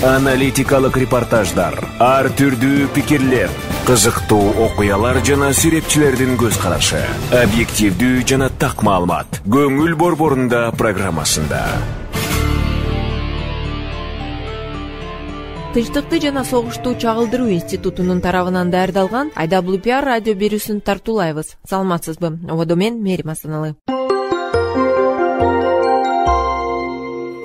Аналитикалык репортаждар, ар түрдүү пикирлер, кызыктуу окуялар жана сүрөтчүлөрдүн көз карашы, объективдүү жана так маалымат. Көңүл борборунда программасында. Тынчтыкты жана согушту чагылдыруу институтунун тарабынан даярдалган IWPR радио берүүсүн тартуулайбыз. Саламатсызбы? Ободо мен Мерим Асаналы.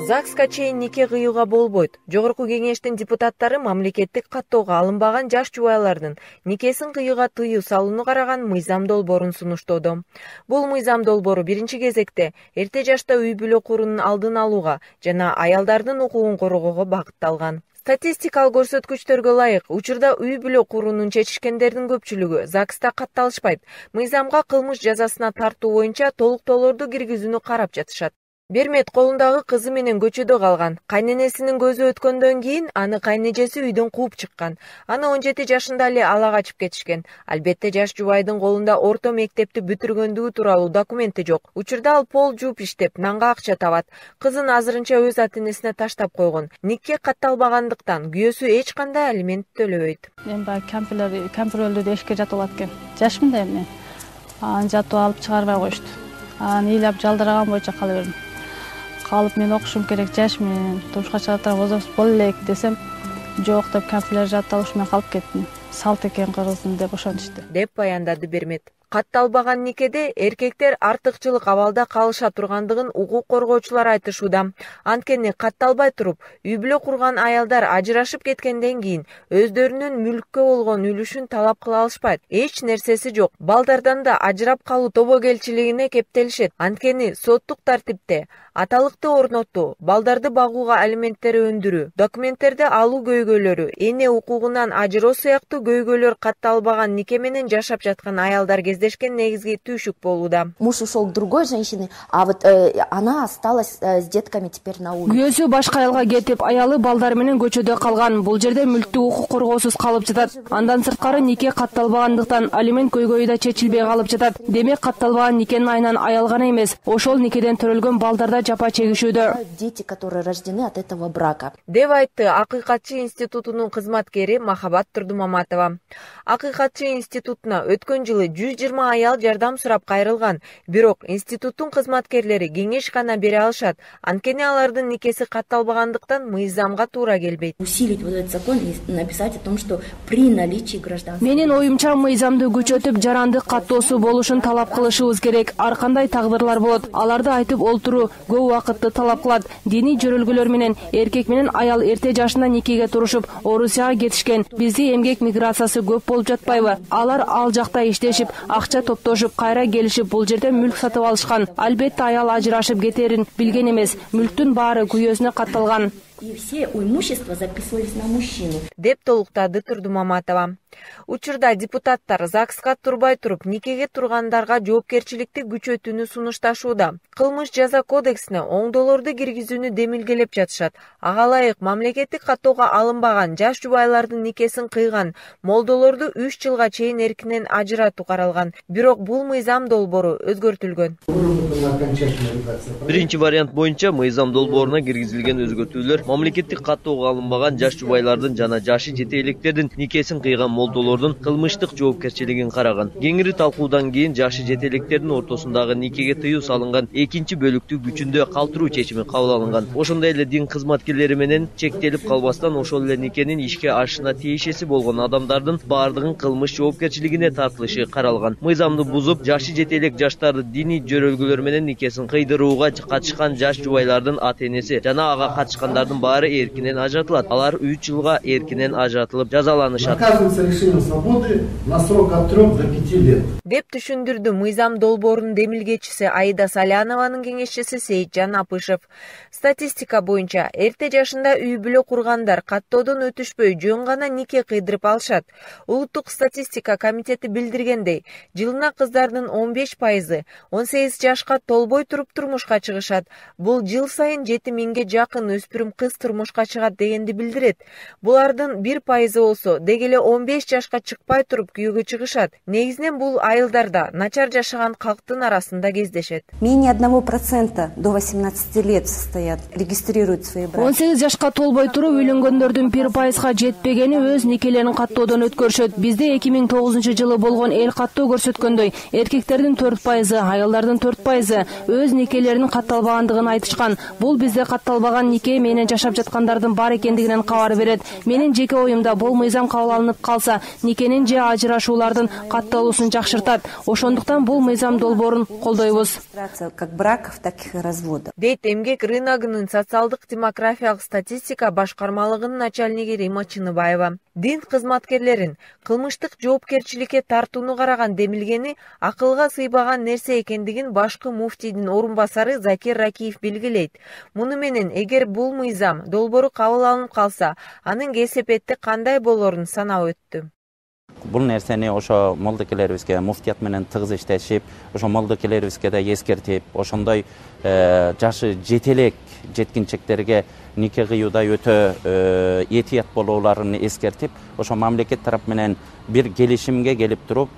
ЗАГСка чейин нике кыюуга болбойт. Жогорку кеңештин депутаттары мамлекеттик каттоого алынбаган жаш жубайлардын никесин кыюуга тыюу салууну караган мыйзам долбоорун сунуштоодо. Бул мыйзам долбоору биринчи кезекте эрте жашта үй бүлө куруунун алдын алууга жана аялдардын укугун коргоого багытталган. Статистикалык көрсөткүчтөргө ылайык, учурда үй бүлө курууну чечишкендердин көпчүлүгү ЗАГСта катталышпайт. Мыйзамга кылмыш жазасына тартуу боюнча толуктоолорду киргизүүнү карап жатышат. Бермет колундагы кызы менен көчөдө калган. Кайненесинин көзү өткөндөн кийин аны кайнежеси үйдөн кууп чыккан. Аны 17 жашында эле ала качып кетишкен. Албетте жаш жубайдын колунда орто мектепти бүтүргөндүгү тууралуу документи жок. Учурда ал пол жууп иштеп, нанга акча табат. Кызын азырынча өз ата-энесине таштап койгон. Нике катталбагандыктан күйөөсү эч кандай алимент төлөбөйт. Мен баягы кампир өлдү деп эшикке жатып алат экен. Жашмын да эмне. Аны жатып алып чыгарбай коюшту. Аны ыйлап жалдыраган боюнча кала бердим. Калып мен окушум керек, жашмын, турмушка чыгатар возраст боло элек десем, жок деп кампирлер жатып алып мен калып кеттим. Салт экен кыргыздын деп ошентишти, деп баяндады Бермет. Катталбаган никеде эркектер артыкчылык абалда калыша тургандыгын укук коргоочулар айтышууда. Анткени катталбай туруп, үй бүлө курган аялдар ажырашып кеткенден кийин өздөрүнүн мүлккө болгон үлүшүн талап кыла алышпайт. Эч нерсеси жок. Балдардан да ажырап калуу тобокелчилигине кептелишет. Анткени соттук тартипте аталыкты орноттуу, балдарды багууга алименттер өндүрүү, документтерди алуу көйгөйлөрү, эне укугунан ажыроо сыяктуу көйгөйлөр катталбаган нике менен жашап жаткан аялдар кездешкен негизги түйшүк болууда. Муж ушел к другой женщине, а вот она осталась с детками теперь на улице. Күйөөсү башка аялга кетип, аялы балдар менен көчөдө калган. Бул жерде мүлктүү укук коргоосуз калып жатат. Андан сырткары нике катталбагандыктан алимент көйгөйү да чечилбей калып жатат. Демек катталбаган никенин айынан аял гана эмес, ошол никеден төрөлгөн балдар да жапа чегишүүдө. Дети, которые рождены от этого брака. Деп айтты Акыйкатчы институтунун кызматкери Махабат Турдумаматова. Акыйкатчы институтуна өткөн жылы 120 аял жардам сурап кайрылган. Бирок институттун кызматкерлери кеңеш гана бере алышат. Анткени алардын никеси катталбагандыктан мыйзамга туура келбейт. Усилить вот этот закон и написать о том, что при наличии гражданства. Менин оюмча мыйзамды күчөтүп, жарандык каттоосу болушун талап кылышыбыз керек. Ар кандай тагдырлар болот, аларды айтып олтуруу көп убакытты талап кылат. Диний жөрөлгөлөр менен эркек менен аял эрте жашында никеге турушуп, Орусияга кетишкен. Бизде эмгек миграциясы көп болуп жатпайбы? Алар ал жакта иштешип, акча топтошуп, кайра келишип, бул жерде мүлк сатып алышкан. Албетте аял ажырашып кетерин билген эмес. Мүлктүн баары күйөөсүнө катталган. И все имущества записывались на мужчину. Деп толуктады Турдумаматова. Учурда депутаттар ЗАГСка турбай туруп никеге тургандарга жоопкерчиликти күчөтүүнү сунушташууда. Кылмыш жаза кодексине оңдоолорду киргизүүнү демилгелеп жатышат. Ага ылайык мамлекеттик каттоого алынбаган жаш жубайлардын никесин кыйган молдолорду 3 жылга чейин эркинен ажыратуу каралган. Бирок бул мыйзам долбоору өзгөртүлгөн. Биринчи вариант боюнча мыйзам долбооруна киргизилген өзгөртүүлөр мамлекеттик каттоого алынбаган жаш жубайлардын жана жашы жете электердин никесин кыйган молдолордун кылмыштык жоопкерчилигин караган. Кеңири талкуудан кийин жашы жете электердин ортосундагы никеге тыюу салынган экинчи бөлүктү күчүндө калтыруу чечими кабыл алынган. Ошондой эле дин кызматкерлери менен чектелип калбастан ошол эле никенин ишке ашышына тиешеси болгон адамдардын баардыгын кылмыш жоопкерчилигине тартылышы каралган. Мыйзамды бузуп, жашы жете элек жаштарды диний жөрөлгөлөр менен никесин кыйдырууга катышкан жаш жубайлардын ата-энеси жана ага катышкандардын баары эркинен ажыратылат. Алар 3 жылга эркинен ажыратылып жазаланышат. Решением свободы на срок от 3 до 5 лет. Деп түшүндүрдү мыйзам долбоорунун демилгечиси Аида Салянованын кеңешчиси Сейитжан Апышев. Статистика боюнча эрте жашында үй бүлө кургандар каттоодон өтүшпөй жөн гана нике кыйдырып алышат. Улуттук статистика комитети билдиргендей, жылына кыздардын 15% 18 жашка толбой туруп турмушка чыгышат. Бул жыл сайын 7000ге жакын өспүрүм кыз турмушка чыгат дегенди билдирет. Булардын 1% болсо, деги эле 15 15 жашка чыкпай туруп күйөөгө чыгышат. Негизинен бул айылдарда начар жашаган калктын арасында кездешет. Менее 1% до 18 лет состоят, регистрируют свои браки. 18 жашка толбой туруп үйлөнгөндөрдүн 1% жетпегени өз никелерин каттоодон өткөрүшөт. Бизде 2009 жылы болгон эл каттоо көрсөткөндөй эркектердин 4%, айылдардын 4% өз никелерин катталбагандыгын айтышкан. Бул бизде катталбаган нике менен жашап жаткандардын бар экендигинен кабар берет. Менин жеке оюмда бул мыйзам кабыл алынып калса, никенин же ажырашуулардын катталуусун жакшыртат. Ошондуктан бул мыйзам долбоорун колдойбуз. Как браков, так и разводов. Дейт эмгек рыногунун социалдык демографиялык статистика башкармалыгынын начальниги Рима Чыныбаева. Дин кызматкерлерин кылмыштык жоопкерчиликке тартууну караган демилгени акылга сыйбаган нерсе экендигин башкы муфтийдин орун басары Закир Ракиев белгилейт. Муну менен эгер бул мыйзам долбоору кабыл алынып калса, анын кесепети кандай болорун санап өттү. Бул нерсени ошо молдокелерибизге муфтият менен тыгыз иштешип, ошо молдокелерибизге да эскертип, ошондой жашы жете элек жеткинчектерге нике кыюуда өтө этият болууларын эскертип, ошо мамлекет тарап менен бир келишимге келип туруп,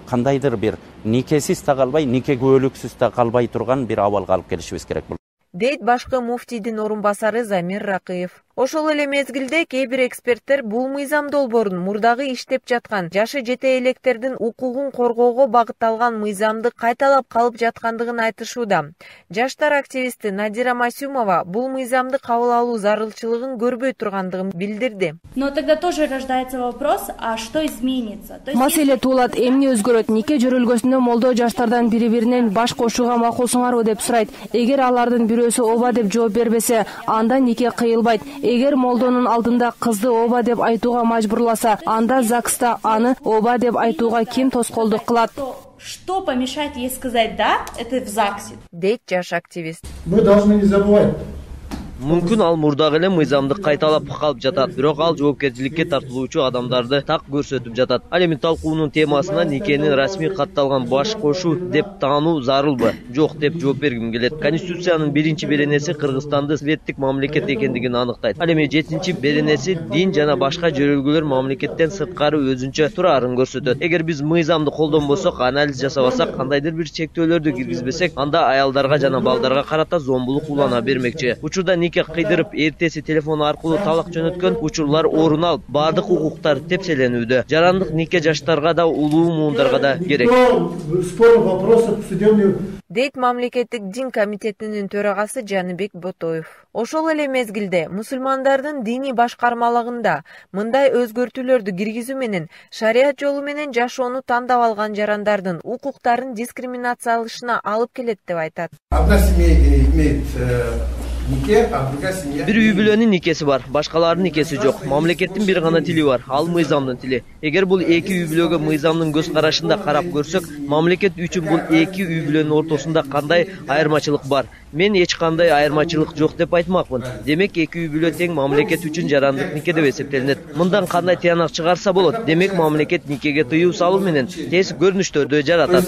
кандайдыр бир никесиз да калбай, нике күбөлүксүз да калбай турган бир абалга алып келишибиз керек бул. Дейт башкы муфтийдин орун басары Замир Ракыев. Ошол эле мезгилде кээ бир эксперттер бул мыйзам долбоорун мурдагы иштеп жаткан жашы жете электердин укугун коргоого багытталган мыйзамды кайталап калып жаткандыгын айтышууда. Жаштар активисти Надира Масюмова бул мыйзамды кабыл алуу зарылчылыгын көрбөй тургандыгын билдирди. Но тогда тоже рождается вопрос, а что изменится? Маселе туулат, эмне өзгөрөт? Нике жөрөлгөсүндө молдо жаштардан бири-биринен баш кошууга макулсуңарбы деп сурайт. Эгер алардын бирөөсү ооба деп жооп бербесе, анда нике кыйылбайт. Эгер молдонун алдында кызды ооба деп айтууга мажбурласа, анда ЗАГСта аны ооба деп айтууга ким тоскоолдук кылат? Что помешает ей сказать «да» — это в ЗАГСе? Дейт жаш активист. Мы должны не забывать. Мүмкүн ал мурдагы эле мыйзамды кайталап калып жатат, бирок ал жоопкерчиликке тартылуучу адамдарды так көрсөтүп жатат. Ал эми талкуунун темасына никенин расмий катталган баш кошуу деп таануу зарылбы, жок деп жооп бергим келет. Конституциянын 1-беренеси Кыргызстанды светтик мамлекет экендигин аныктайт. Ал эми 7-беренеси дин жана башка жөрөлгөлөр мамлекеттен сырткары өзүнчө турарын көрсөтөт. Эгер биз мыйзамды колдонбосок, анализ жасабасак, кандайдыр бир чектөөлөрдү киргизбесек, анда аялдарга жана балдарга карата зомбулук улана бермекчи. Учурда нике кыйдырып, эртеси телефон аркылуу талак жөнөткөн учурлар орун алып, баардык укуктар тепселенүүдө. Жарандык нике жаштарга да, улуу муундарга да керек. Дейт мамлекеттик дин комитетинин төрагасы Жаныбек Ботоев. Ошол эле мезгилде мусулмандардын диний башкармалыгында мындай өзгөртүүлөрдү киргизүү менен шарият жолу менен жашоону тандап алган жарандардын укуктарын дискриминациялашына алып келет деп айтат. Одна семья имеет нике, а другая семья... Бир үй бүлөнүн никеси бар, башкалардын никеси жок. Мамлекеттин бир гана тили бар, ал мыйзамдын тили. Эгер бул эки үй бүлөгө мыйзамдын көз карашында карап көрсөк, мамлекет үчүн бул эки үй бүлөнүн ортосунда кандай айырмачылык бар? Мен эч кандай айырмачылык жок деп айтмакмын. Демек эки үй бүлө тең мамлекет үчүн жарандык нике деп эсептелинет. Мындан кандай тыянак чыгарса болот? Демек мамлекет никеге тыюу салуу менен терс көрүнүштөрдү жаратат.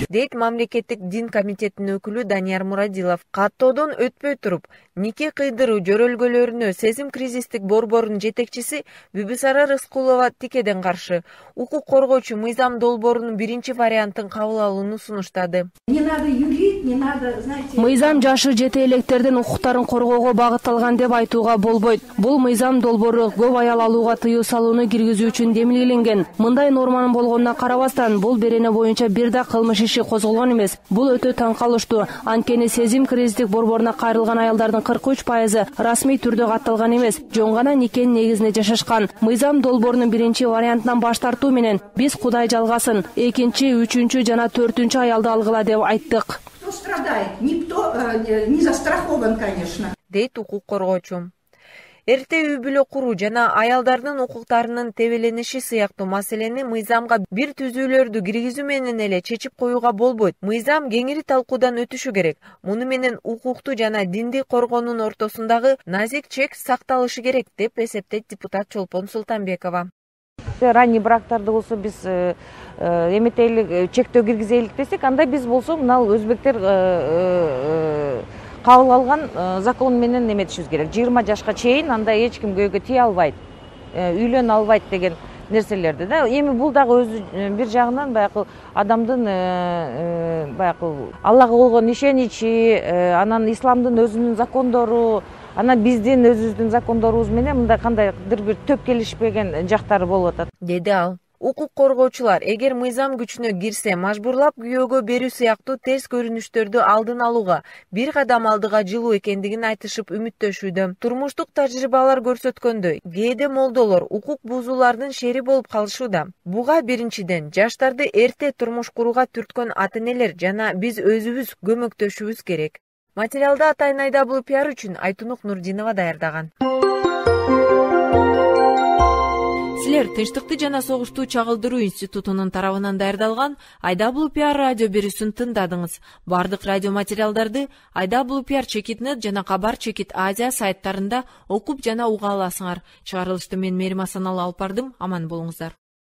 Дейт мамлекеттик дин комитетинин өкүлү Данияр Мурадилов. Каттоодон өтпөй туруп, нике кыйдыруу жөрөлгөлөрүнө сезим кризистик борборунун жетекчиси Бүбүсара Рыскулова тикеден каршы. Укук коргоочу мыйзам долбоорунун биринчи вариантын кабыл алууну сунуштады. Не надо юлить, не надо, знаете... Мыйзам жашы жете электердин укуктарын коргоого багытталган деп айтууга болбойт. Бул мыйзам долбоору көп аял алууга тыюу салууну киргизүү үчүн демилгеленген. Мындай норманын болгонуна карабастан, бул берене боюнча бир да кылмыш иши козголгон эмес. Бул өтө таң калыштуу. Анткени сезим кризистик борборуна кайрылган аялдардын 43% расмий түрдө катталган эмес, жөн гана никенин негизинде жашашкан. Мыйзам долбоорунун биринчи вариантынан баш тартуу менен биз Кудай жалгасын, экинчи, үчүнчү жана 4-чү аялды алгыла деп айттык. Кто страдает? Никто не застрахован, конечно. Дейт укук коргоочу. Эрте үй бүлө куруу жана аялдардын укуктарынын тебелениши сыяктуу маселени мыйзамга бир түзүүлөрдү киргизүү менен эле чечип коюуга болбойт. Мыйзам кеңири талкуудан өтүшү керек. Муну менен укукту жана динди коргоонун ортосундагы назик чек сакталышы керек деп эсептейт депутат Чолпон Султанбекова. Ранний брактарды болсо биз эметейлик чектөө киргизелик десек, анда биз болсо мына өзбектер кабыл алган закон менен эметишибиз керек. 20 жашка чейин анда эч ким көйгө тие албайт, үйлөнө албайт деген нерселерди да. Эми бул дагы өзү бир жагынан баягы адамдын баягы Аллага болгон ишеничи, анан исламдын өзүнүн закондору, анан биздин өзүбүздүн закондорубуз менен мындай кандайдыр бир төп келишпеген жактары болуп атат, деди ал. Укук коргоочулар эгер мыйзам күчүнө кирсе, мажбурлап күйөөгө берүү сыяктуу терс көрүнүштөрдү алдын алууга бир кадам алдыга жылуу экендигин айтышып үмүттөнүшүүдө. Турмуштук тажрыйбалар көрсөткөндөй, кээде молдолор укук бузуулардын шери болуп калышууда. Буга биринчиден жаштарды эрте турмуш курууга түрткөн ата-энелер жана биз өзүбүз көмөктөшүбүз керек. Материалды атайын Айдабул пиар үчүн Айтунук Нурдинова даярдаган. Силер Тынчтыкты жана согушту чагылдыруу институтунун тарабынан даярдалган Айдабул пиар радио берүүсүн тыңдадыңыз. Бардык радио материалдарды Айдабул пиар Чекит.нет жана Кабар Чекит Азия сайттарында окуп жана уга аласыңар. Чыгарылышты мен Мээрим Асаналы алып бардым. Аман болуңуздар.